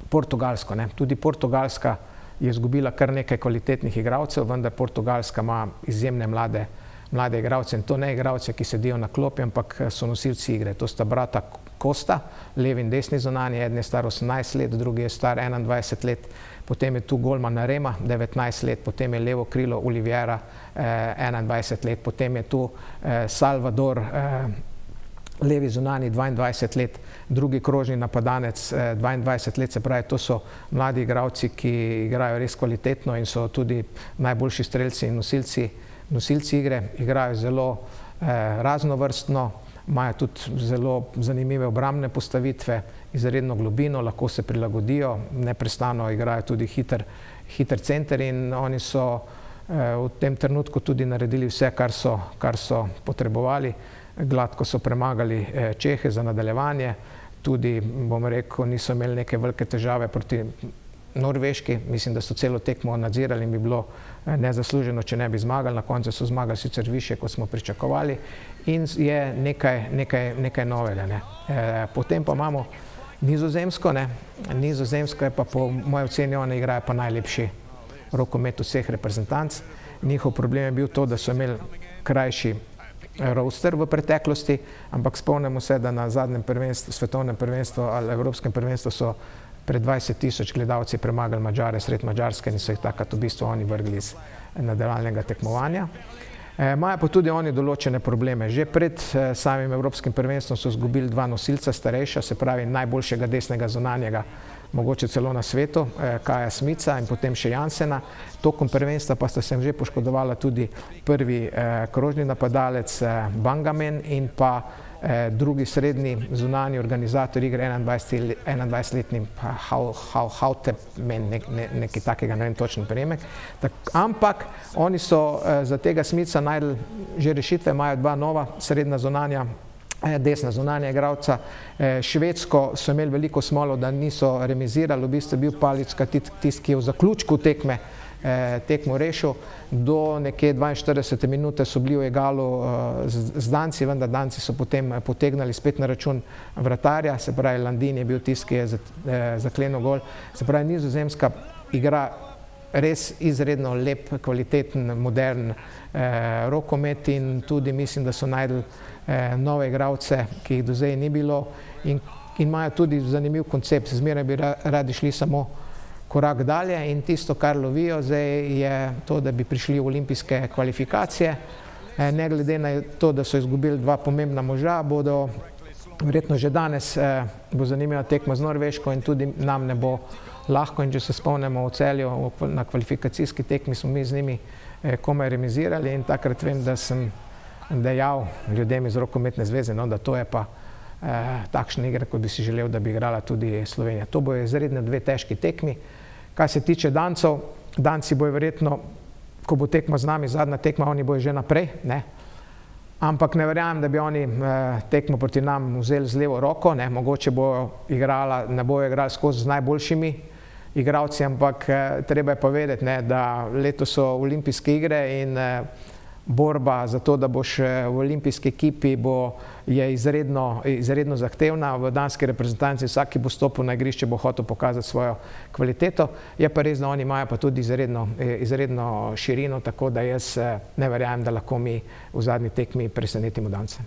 Portugalsko. Tudi Portugalska je izgubila kar nekaj kvalitetnih igralcev, vendar Portugalska ima izjemne mlade, mlade igralce in to ne igralce, ki sedijo na klopi, ampak so nosilci igre. To sta brata Costa, levi in desni zunanji, eden je star osemnajst let, drugi je star enaindvajset let, potem je tu golman Rema, devetnajst let, potem je levo krilo Oliviera, enaindvajset let, potem je tu Salvador, levi zunanji, dvaindvajset let, drugi krožni napadanec, dvaindvajset let, se pravi, to so mladi igralci, ki igrajo res kvalitetno in so tudi najboljši strelci in nosilci, nosilci igre, igrajo zelo raznovrstno, imajo tudi zelo zanimive obrambne postavitve, izredno globino, lahko se prilagodijo, neprestano igrajo tudi hiter, hiter center in oni so v tem trenutku tudi naredili vse, kar so, kar so potrebovali. Gladko so premagali Čehe za nadaljevanje, tudi, bom rekel, niso imeli neke velike težave proti Norveški, mislim, da so celo tekmo nadzirali in bi bilo nezasluženo, če ne bi zmagali, na koncu so zmagali sicer više, kot smo pričakovali in je nekaj, nekaj, nekaj novega. Ne. E, potem pa imamo Nizozemsko, ne. Nizozemsko je pa po moji oceni, oni igrajo pa najlepši rokomet vseh reprezentanc. Njihov problem je bil to, da so imeli krajši roster v preteklosti, ampak spomnimo se, da na zadnjem prvenstvu, svetovnem prvenstvu ali evropskem prvenstvu so pred dvajset tisoč gledalci premagali Mađare sred Mađarske in so jih takrat v bistvu oni vrgli iz nadaljevalnega tekmovanja. Imajo pa tudi oni določene probleme. Že pred samim evropskim prvenstvom so izgubili dva nosilca starejša, se pravi najboljšega desnega zunanjega, mogoče celo na svetu, Kaja Smica in potem še Jansena. Tokom prvenstva pa sta se že poškodovala tudi prvi krožni napadalec Bangamen in pa drugi srednji zunanji organizator igre, enaindvajsetletni Hautemen, nekaj takega, ne vem točen prijemek. Ampak oni so za tega Smica najdli že rešitve, imajo dva nova srednja zunanja, desna zunanja igralca. Švedsko so imeli veliko smolo, da niso remizirali, v bistvu je bil Palicka tisti, ki je v zaključku tekme tekmo rešil. Do nekje dvainštiridesete minute so bili v egalu z Danci, vendar Danci so potem potegnali spet na račun vratarja, se pravi Landin je bil tisti, ki je zaklenil gol. Se pravi, Nizozemska igra res izredno lep, kvaliteten, modern rokomet in tudi mislim, da so najdli nove igralce, ki jih do zdaj ni bilo in imajo tudi zanimiv koncept. Zmeraj bi radi šli samo korak dalje in tisto, kar lovijo zdaj, je to, da bi prišli v olimpijske kvalifikacije. Ne glede na to, da so izgubili dva pomembna moža, bodo verjetno že danes bo zanimiva tekma z Norveško in tudi nam ne bo lahko. In če se spomnimo v Celju, na kvalifikacijski tekmi smo mi z njimi komaj remizirali in takrat vem, da sem dejal ljudem iz rokometne zveze, no, da to je pa takšna igra, kot bi si želel, da bi igrala tudi Slovenija. To bojo izredno dve težki tekmi. Kar se tiče Dancov, Danci bojo verjetno ko bo tekma z nami, zadnja tekma, oni bojo že naprej, ne. Ampak ne verjamem, da bi oni tekmo proti nam vzeli z levo roko, ne, mogoče bojo igrala, ne bojo igrali skozi z najboljšimi igralci, ampak treba je pa vedeti, ne, da letos so olimpijske igre in borba za to, da boš v olimpijski ekipi, bo, je izredno, izredno zahtevna. V danski reprezentanci vsak, ki bo stopil na igrišče, bo hotel pokazati svojo kvaliteto. Je pa res, da oni imajo pa tudi izredno, izredno širino, tako da jaz ne verjamem, da lahko mi v zadnji tekmi presenetimo Dance.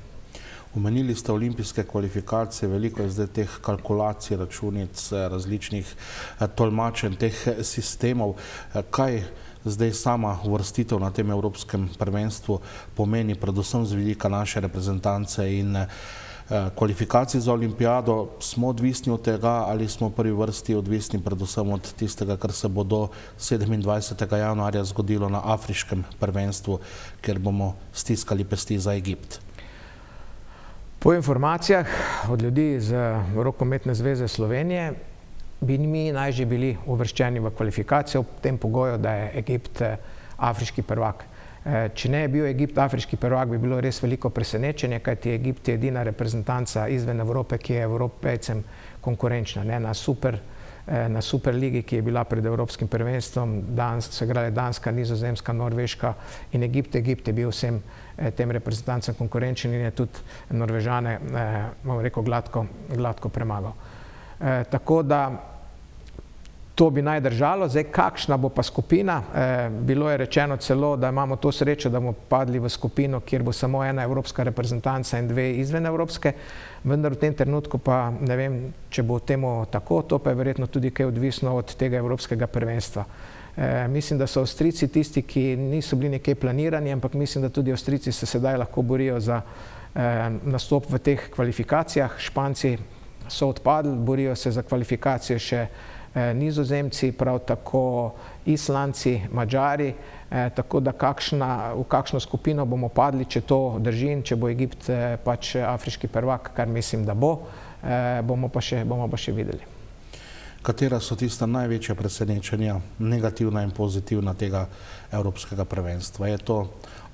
Omenili ste olimpijske kvalifikacije, veliko je zdaj teh kalkulacij, računic, različnih tolmačenj teh sistemov. Kaj zdaj sama uvrstitev na tem evropskem prvenstvu pomeni, predvsem z vidika naše reprezentance in kvalifikacij za olimpijado? Smo odvisni od tega ali smo v prvi vrsti odvisni predvsem od tistega, kar se bo do sedemindvajsetega januarja zgodilo na afriškem prvenstvu, kjer bomo stiskali pesti za Egipt? Po informacijah od ljudi iz Rokometne zveze Slovenije bi mi naj že bili uvrščeni v kvalifikacijo v tem pogoju, da je Egipt afriški prvak. Če ne je bil Egipt afriški prvak, bi bilo res veliko presenečenje, kajti Egipt je edina reprezentanca izven Evrope, ki je Evropejcem konkurenčna. Ne, na super, na Superligi, ki je bila pred evropskim prvenstvom, danes so igrale Danska, Nizozemska, Norveška in Egipt. Egipt je bil vsem tem reprezentancem konkurenčen in je tudi Norvežane, bom rekel, gladko, gladko premagal. Tako da to bi naj držalo. Zdaj, kakšna bo pa skupina? Bilo je rečeno celo, da imamo to srečo, da bomo padli v skupino, kjer bo samo ena evropska reprezentanca in dve izven evropske, vendar v tem trenutku pa ne vem, če bo temu tako, to pa je verjetno tudi kaj odvisno od tega evropskega prvenstva. Mislim, da so Avstrijci tisti, ki niso bili nekaj planirani, ampak mislim, da tudi Avstrijci se sedaj lahko borijo za nastop v teh kvalifikacijah. Španci so odpadli, borijo se za kvalifikacije še Nizozemci, prav tako Islandci, Madžari, tako da kakšna, v kakšno skupino bomo padli, če to drži, če bo Egipt pač afriški prvak, kar mislim, da bo, bomo pa še, bomo pa še videli. Katera so tista največja presenečenja, negativna in pozitivna tega evropskega prvenstva? Je to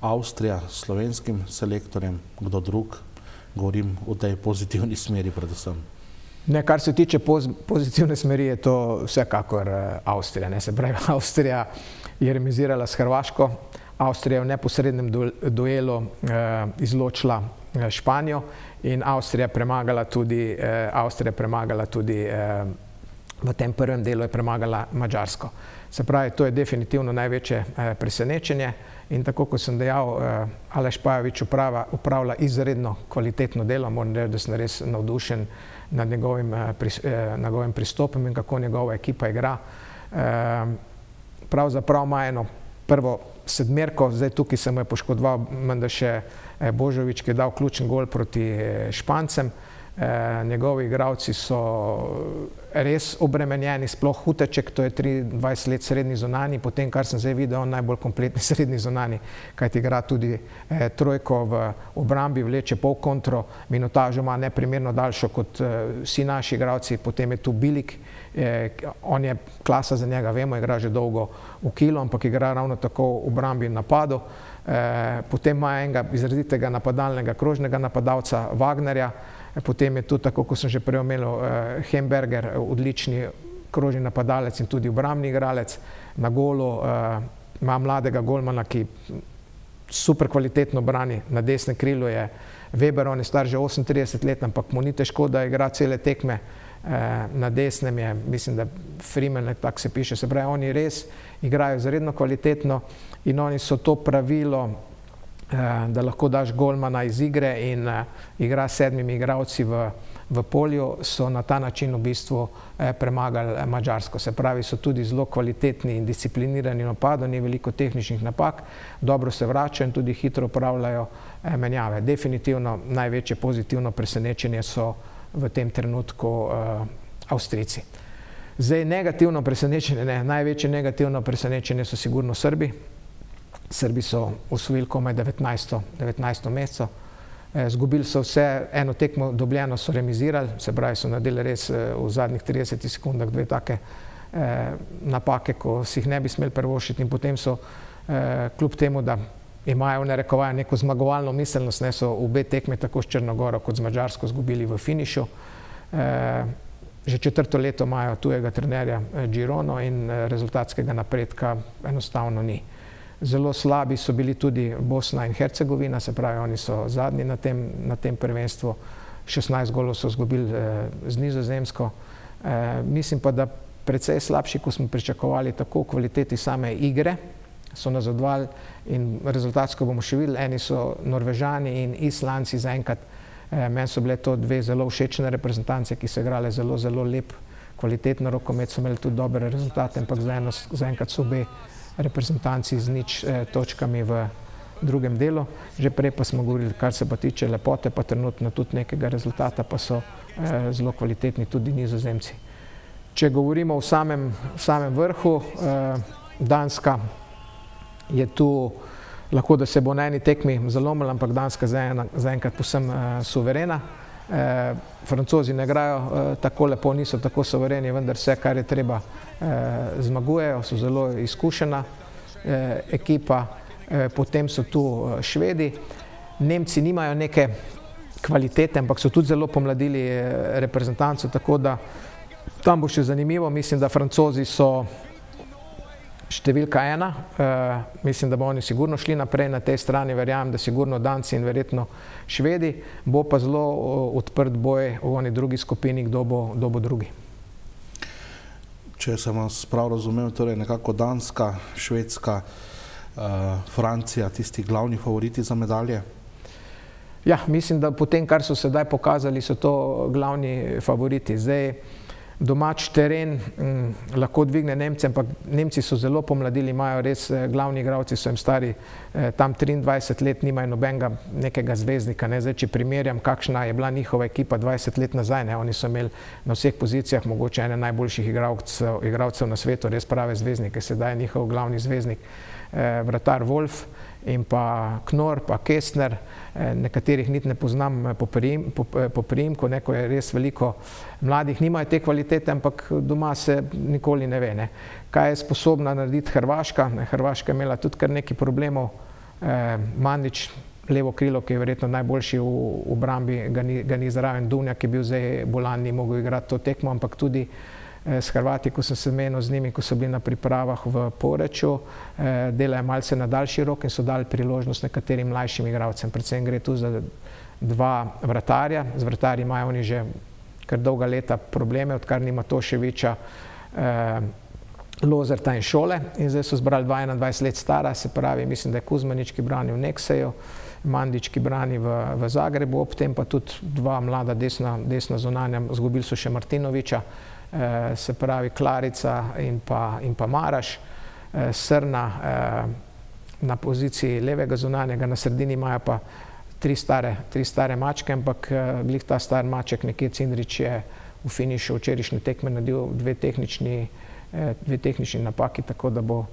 Avstrija s slovenskim selektorjem, kdo drug? Govorim v tej pozitivni smeri predvsem. Ne, kar se tiče pozitivne smeri, je to vsekakor Avstrija. Ne, se pravi, Avstrija je remizirala s Hrvaško, Avstrija je v neposrednem duelu izločila Španijo in Avstrija premagala tudi, Avstrija premagala tudi v tem prvem delu je premagala Madžarsko. Se pravi, to je definitivno največje presenečenje in tako, kot sem dejal, Aleš Pajovič upravlja izredno kvalitetno delo, moram reči, da sem res navdušen nad njegovim, njegovim pristopom in kako njegova ekipa igra. Pravzaprav ima eno prvo sedmerko, zdaj tukaj se mu je poškodoval menda še Božovič, ki je dal ključen gol proti Špancem. Njegovi igralci so res obremenjeni, sploh Huteček, to je triindvajset let srednji zunani, potem, kar sem zdaj videl, on najbolj kompletni srednji zunani, kajti igra tudi trojko v obrambi, vleče pol kontro, minutažo ima neprimerno daljšo kot vsi naši igralci, potem je tu Bilik, on je klasa za njega, vemo, igra že dolgo v kilo, ampak igra ravno tako v obrambi in napadu. Potem ima enega izrazitega napadalnega krožnega napadalca Wagnerja, potem je tudi, tako kot sem že prej omenil, Hemberger, odlični krožni napadalec in tudi obrambni igralec. Na golu ima mladega golmana, ki super kvalitetno brani, na desnem krilu je Weber, on je star že osemintrideset let, ampak mu ni težko, da igra cele tekme. Na desnem je, mislim, da Freeman, tako se piše, se pravi, oni res igrajo izredno kvalitetno in oni so to pravilo, da lahko daš golmana iz igre in igra s sedmimi igralci v, v polju, so na ta način v bistvu premagali Madžarsko. Se pravi, so tudi zelo kvalitetni in disciplinirani v napadu, ni veliko tehničnih napak, dobro se vračajo in tudi hitro upravljajo menjave. Definitivno največje pozitivno presenečenje so v tem trenutku Avstrijci. Zdaj, negativno presenečenje, ne, največje negativno presenečenje so sigurno Srbi. Srbi so osvojili komaj devetnajsto mesto. Zgubili so vse, eno tekmo dobljeno so remizirali, se pravi, so naredili res v zadnjih tridesetih sekundah dve take napake, ko si jih ne bi smeli privoščiti in potem so kljub temu, da imajo v narekovaju neko zmagovalno miselnost, ne, so obe tekme tako s Črnogoro kot z Madžarsko izgubili v finišu. Že četrto leto imajo tujega trenerja Girono in rezultatskega napredka enostavno ni. Zelo slabi so bili tudi Bosna in Hercegovina, se pravi, oni so zadnji na tem, na tem prvenstvu. šestnajst golov so izgubili z Nizozemsko. Mislim pa, da precej slabši, ko smo pričakovali tako v kvaliteti same igre, so nazadovali in rezultatsko bomo še videli. Eni so Norvežani in Islandci zaenkrat. Meni so bile to dve zelo všečne reprezentance, ki so igrale zelo, zelo lep, kvalitetno rokomet, so imeli tudi dobre rezultate, ampak zaenkrat so obe reprezentanci z nič točkami v drugem delu. Že prej pa smo govorili, kar se pa tiče lepote, pa trenutno tudi nekega rezultata, pa so zelo kvalitetni tudi Nizozemci. Če govorimo o samem, samem vrhu, Danska je tu, lahko da se bo na eni tekmi zalomila, ampak Danska zaenkrat povsem suverena. Francozi ne igrajo tako lepo, niso tako suvereni, vendar vse, kar je treba, zmagujejo, so zelo izkušena ekipa. Potem so tu Švedi. Nemci nimajo neke kvalitete, ampak so tudi zelo pomladili reprezentanco, tako da tam bo še zanimivo. Mislim, da Francozi so številka ena. Mislim, da bo oni sigurno šli naprej na tej strani, verjamem, da sigurno Danci in verjetno Švedi. Bo pa zelo odprt boj v oni drugi skupini, kdo bo, kdo bo drugi. Če sem vas prav razumel, torej nekako Danska, Švedska, Francija, tisti glavni favoriti za medalje? Ja, mislim, da po tem, kar so sedaj pokazali, so to glavni favoriti. Zdaj, domač teren m, lahko dvigne Nemce, ampak Nemci so zelo pomladili, imajo res glavni igralci, so jim stari eh, tam triindvajset let, nimajo nobenega nekega zvezdnika. Ne? Zdaj, če primerjam, kakšna je bila njihova ekipa dvajset let nazaj, ne? Oni so imeli na vseh pozicijah mogoče ene najboljših igralcev, igralcev na svetu, res prave zvezdnike. Sedaj je njihov glavni zvezdnik eh, vratar Wolf in pa Knorr, pa Kestner, eh, nekaterih niti ne poznam po, prijim, po, po priimku, neko je res veliko mladih, nimajo te kvalitete, ampak doma se nikoli ne ve. Ne. Kaj je sposobna narediti Hrvaška? Hrvaška je imela tudi kar nekaj problemov. Eh, Mandić, levo krilo, ki je verjetno najboljši v, v brambi, ga ni, ga ni zraven. Dunja, ki je bil zdaj bolan, ni mogel igrati to tekmo, ampak tudi s Hrvati, ko sem se menil z njimi, ko so bili na pripravah v Poreču, delajo malce na daljši rok in so dali priložnost nekaterim mlajšim igralcem. Predvsem gre tu za dva vratarja. Z vratarji imajo oni že kar dolga leta probleme, odkar nima Toševića, Lozerta in Šole. In zdaj so zbrali dva enaindvajset let stara, se pravi, mislim, da je Kuzmanić, ki brani v Nekseju, Mandić, ki brani v, v Zagrebu, ob tem pa tudi dva mlada desna, desna zunanja, izgubili so še Martinovića, eh, se pravi Klarica in pa, in pa Maraš, eh, Srna eh, na poziciji levega zunanjega, na sredini imajo pa tri stare, tri stare mačke, ampak eh, glih ta star maček, nekje Cindrić je v finišu včerajšnje tekme naredil dve tehnični, eh, dve tehnični napaki, tako da bo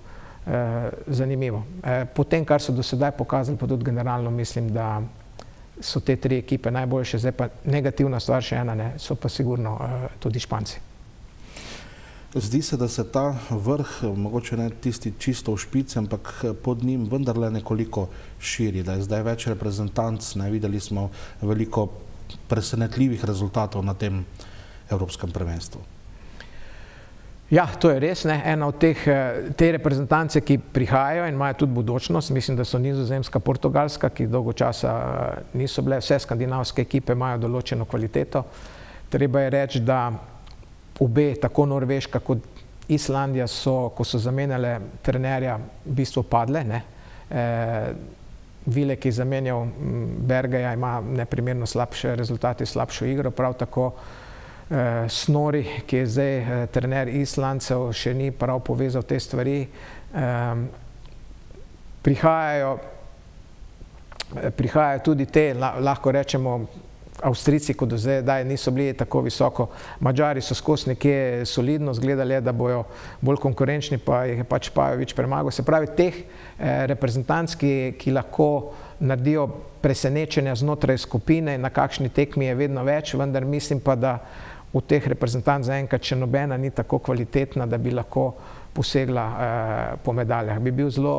eh, zanimivo. Eh, po tem, kar so do sedaj pokazali, pa tudi generalno mislim, da so te tri ekipe najboljše, zdaj pa negativna stvar še ena, ne, so pa sigurno eh, tudi Španci. Zdi se, da se ta vrh, mogoče ne tisti čisto v špici, ampak pod njim vendarle nekoliko širi, da je zdaj več reprezentanc, ne, videli smo veliko presenetljivih rezultatov na tem evropskem prvenstvu. Ja, to je res, ne. Ena od teh, te reprezentance, ki prihajajo in imajo tudi budućnost, mislim, da so Nizozemska, Portugalska, ki dolgo časa niso bile, vse skandinavske ekipe imajo določeno kvaliteto. Treba je reči, da obe, tako Norveška kot Islandija, so, ko so zamenjale trenerja, v bistvu padle. Ne. E, Vile, ki je zamenjal Bergeja, ima neprimerno slabše rezultate, slabšo igro, prav tako eh, Snori, ki je zdaj eh, trener Islandcev, še ni prav povezal te stvari. Eh, prihajajo, prihajajo tudi te, lahko rečemo, Avstrijci, kot do zdaj niso bili tako visoko. Mađari so skozi nekje solidno zgledali, da bojo bolj konkurenčni, pa jih je pač Pajović premagal. Se pravi, teh eh, reprezentanc, ki, ki lahko naredijo presenečenja znotraj skupine, na kakšni tekmi je vedno več, vendar mislim pa, da v teh reprezentanc zaenkrat še nobena ni tako kvalitetna, da bi lahko posegla po medaljah. Bi bil zelo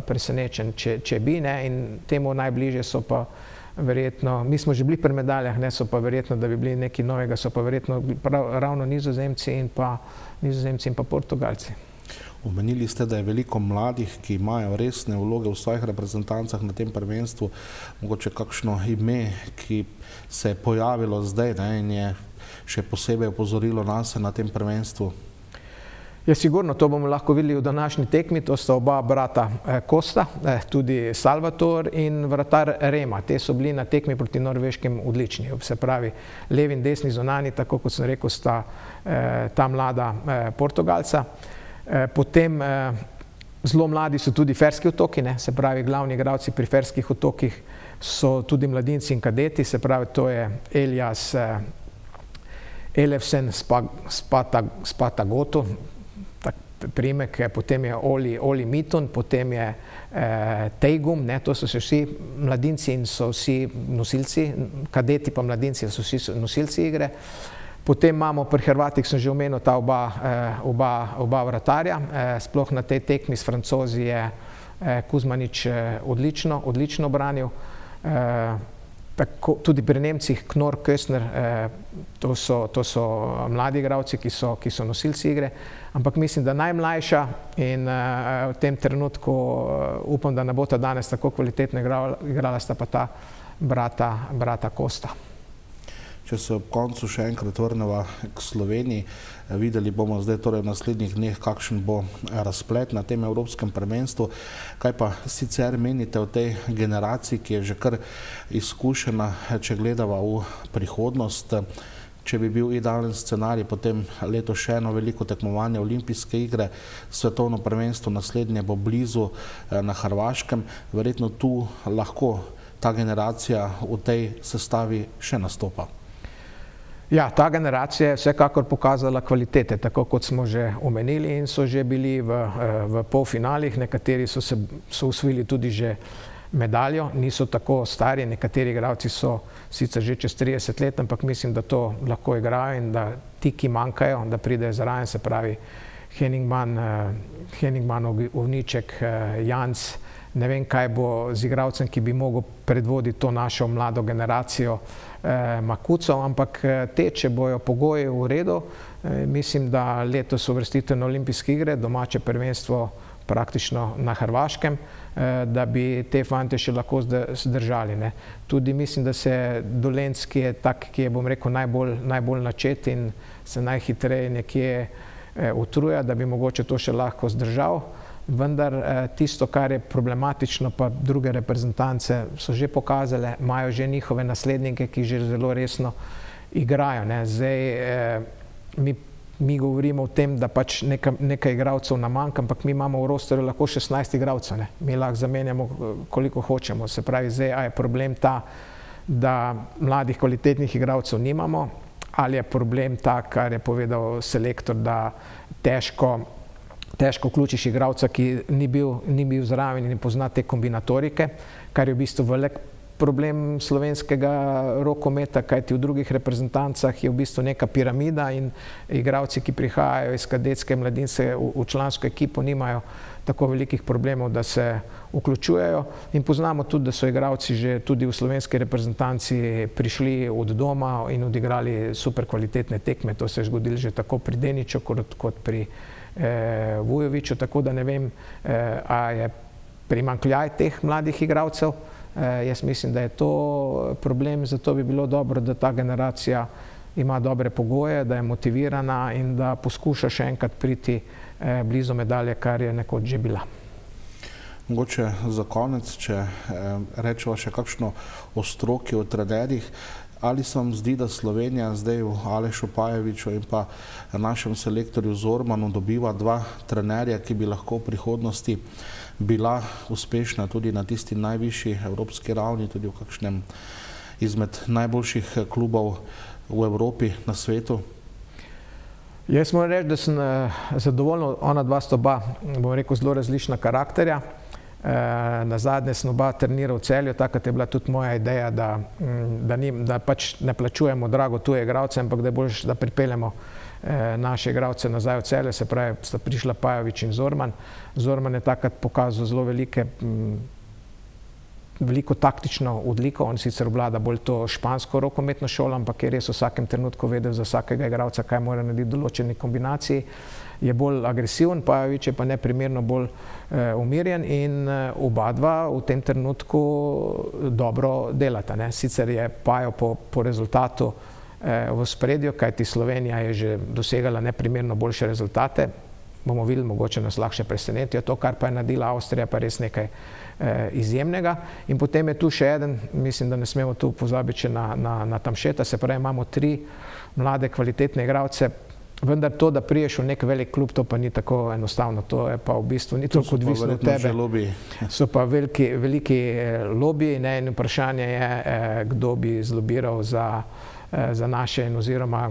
presenečen, če bi, ne, in temu najbližje so pa verjetno, mi smo že bili pri medaljah, ne, so pa verjetno, da bi bili nekaj novega, so pa verjetno ravno Nizozemci in pa Nizozemci in pa Portugalci. Omenili ste, da je veliko mladih, ki imajo resne vloge v svojih reprezentancah na tem prvenstvu, mogoče kakšno ime, ki se je pojavilo zdaj, ne, in je še posebej opozorilo nase na tem prvenstvu? Ja, sigurno, to bomo lahko videli v današnji tekmi, to sta oba brata Kosta, tudi Salvator in vratar Rema. Te so bili na tekmi proti Norveškem odlični, se pravi levi in desni zunani, tako kot sem rekel, sta ta mlada Portugalca. Potem zelo mladi so tudi Ferski otoki, ne, se pravi glavni igralci pri Ferskih otokih so tudi mladinci in kadeti, se pravi to je Elias Elefsen Spatagoto, primek, potem je Oli, Oli Mitun, potem je eh, Tejgum, ne, to so se vsi mladinci in so vsi nosilci, kadeti pa mladinci so vsi nosilci igre. Potem imamo pri Hrvatih, sem že omenil, ta oba, eh, oba, oba vratarja, eh, sploh na tej tekmi s Francozi je eh, Kuzmanič eh, odlično, odlično branil. Eh, Tako, tudi pri Nemcih Knorr, Köstner, eh, to, so, to so mladi igralci, ki so, ki so nosilci igre, ampak mislim, da najmlajša in eh, v tem trenutku eh, upam, da ne bo ta danes tako kvalitetno igrala, igrala sta pa ta brata, brata Kosta. Če se ob koncu še enkrat vrneva k Sloveniji, videli bomo zdaj torej v naslednjih dneh, kakšen bo razplet na tem evropskem prvenstvu. Kaj pa sicer menite o tej generaciji, ki je že kar izkušena, če gledava v prihodnost? Če bi bil idealen scenarij, potem leto še eno veliko tekmovanje, olimpijske igre, svetovno prvenstvo naslednje bo blizu na Hrvaškem. Verjetno tu lahko ta generacija v tej sestavi še nastopa. Ja, ta generacija je vsekakor pokazala kvalitete, tako kot smo že omenili in so že bili v, v polfinalih, nekateri so se so usvojili tudi že medaljo, niso tako stari, nekateri igralci so sicer že čez trideset let, ampak mislim, da to lahko igrajo in da ti, ki manjkajo, da pridejo zraven, se pravi Henningman, Henningman, Ovniček, Janc, ne vem, kaj bo z igralcem, ki bi mogel predvoditi to našo mlado generacijo, eh, Makuco, ampak te, če bojo pogoji v redu, eh, mislim, da letos uvrstitev na olimpijske igre, domače prvenstvo praktično na Hrvaškem, eh, da bi te fante še lahko zdržali. Ne. Tudi mislim, da se Dolenc, ki je tak, ki je, bom rekel, najbolj, najbolj načet in se najhitreje nekje eh, utruja, da bi mogoče to še lahko zdržal. Vendar tisto, kar je problematično, pa druge reprezentance so že pokazale, imajo že njihove naslednike, ki že zelo resno igrajo. Ne. Zdaj, mi, mi govorimo o tem, da pač nekaj, nekaj igralcev nam manjka, ampak mi imamo v rosterju lahko šestnajst igralcev. Ne. Mi lahko zamenjamo, koliko hočemo. Se pravi, zdaj a je problem ta, da mladih kvalitetnih igralcev nimamo, ali je problem ta, kar je povedal selektor, da težko težko vključiš igralca, ki ni bil, ni bil zraven in ne pozna te kombinatorike, kar je v bistvu velik problem slovenskega rokometa, kajti v drugih reprezentancah je v bistvu neka piramida in igralci, ki prihajajo iz kadetske mladince v, v člansko ekipo, nimajo tako velikih problemov, da se vključujejo. In poznamo tudi, da so igralci že tudi v slovenski reprezentanci prišli od doma in odigrali super kvalitetne tekme. To se je zgodilo že tako pri Deniču kot, kot pri eh, Vujoviću, tako da ne vem, eh, a je primanjkljaj teh mladih igralcev. Eh, jaz mislim, da je to problem, zato bi bilo dobro, da ta generacija ima dobre pogoje, da je motivirana in da poskuša še enkrat priti eh, blizu medalje, kar je nekoč že bila. Mogoče za konec, če eh, rečeva še kakšno o stroki, o trenerjih, ali se vam zdi, da Slovenija zdaj v Alešu Pajeviću in pa našem selektorju Zormanu dobiva dva trenerja, ki bi lahko v prihodnosti bila uspešna tudi na tisti najvišji evropski ravni, tudi v kakšnem izmed najboljših klubov v Evropi, na svetu? Jaz moram reči, da sem zadovoljen, ona dva sta oba, bom rekel, zelo različna karakterja. Na zadnje sem oba trenirala v Celju, takrat je bila tudi moja ideja, da, da, ni, da pač ne plačujemo drago tuje igralce, ampak da je boljše, da pripeljemo naše igralce nazaj v Celje, se pravi, sta prišla Pajović in Zorman. Zorman je takrat pokazal zelo velike, veliko taktično odliko, on sicer vlada bolj to špansko rokometno šolo, ampak je res v vsakem trenutku vedel za vsakega igralca, kaj mora narediti v določeni kombinaciji. Je bolj agresiven, Pajović je pa neprimerno bolj eh, umirjen in eh, oba dva v tem trenutku dobro delata. Ne? Sicer je Pajo po, po rezultatu eh, v spredju, kajti Slovenija je že dosegala neprimerno boljše rezultate. Bomo videli, mogoče nas lahko še presenetijo. To, kar pa je naredila Avstrija, pa res nekaj eh, izjemnega. In potem je tu še eden, mislim, da ne smemo tu pozabiti na, na, na Tamšeta, se pravi, imamo tri mlade, kvalitetne igralce. Vendar to, da priješ v nek velik klub, to pa ni tako enostavno. To je pa v bistvu ni toliko odvisno od tebe. So pa veliki, veliki lobiji, ne, in vprašanje je, kdo bi zlobiral za, za naše in oziroma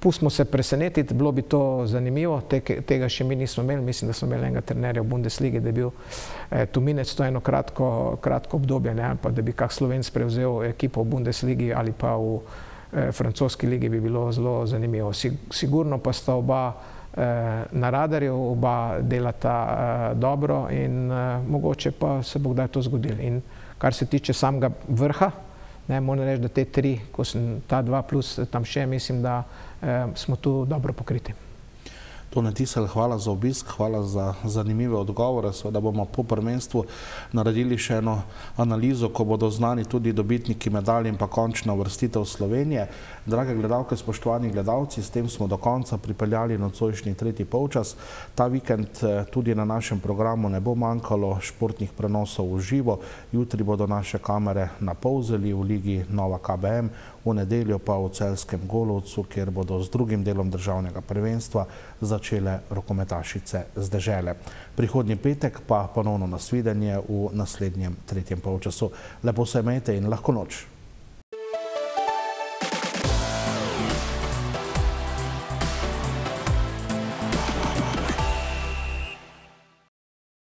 pustimo se presenetiti, bilo bi to zanimivo, Te, tega še mi nismo imeli, mislim, da smo imeli enega trenerja v Bundesligi, da je bil eh, Tuminec, to eno kratko, kratko obdobje, ne, ali pa da bi kak Slovenc prevzel ekipo v Bundesligi ali pa v francoski ligi, bi bilo zelo zanimivo. Sigurno pa sta oba na radarju, oba delata dobro in mogoče pa se bo kdaj to zgodilo. In kar se tiče samega vrha, ne, moram reči, da te tri, ko sem ta dva plus tam še, mislim, da smo tu dobro pokriti. Tone Tisel, hvala za obisk, hvala za zanimive odgovore. Seveda bomo po prvenstvu naredili še eno analizo, ko bodo znani tudi dobitniki medalj in pa končna uvrstitev Slovenije. Drage gledalke, spoštovani gledalci, s tem smo do konca pripeljali nocojšnji tretji polčas. Ta vikend tudi na našem programu ne bo manjkalo športnih prenosov v živo. Jutri bodo naše kamere na Polzeli v ligi Nova K B M, v nedeljo pa v Celjskem Golovcu, kjer bodo z drugim delom državnega prvenstva začele rokometašice z dežele. Prihodnji petek pa ponovno nasvidenje v naslednjem tretjem polčasu. Lepo se imejte in lahko noč.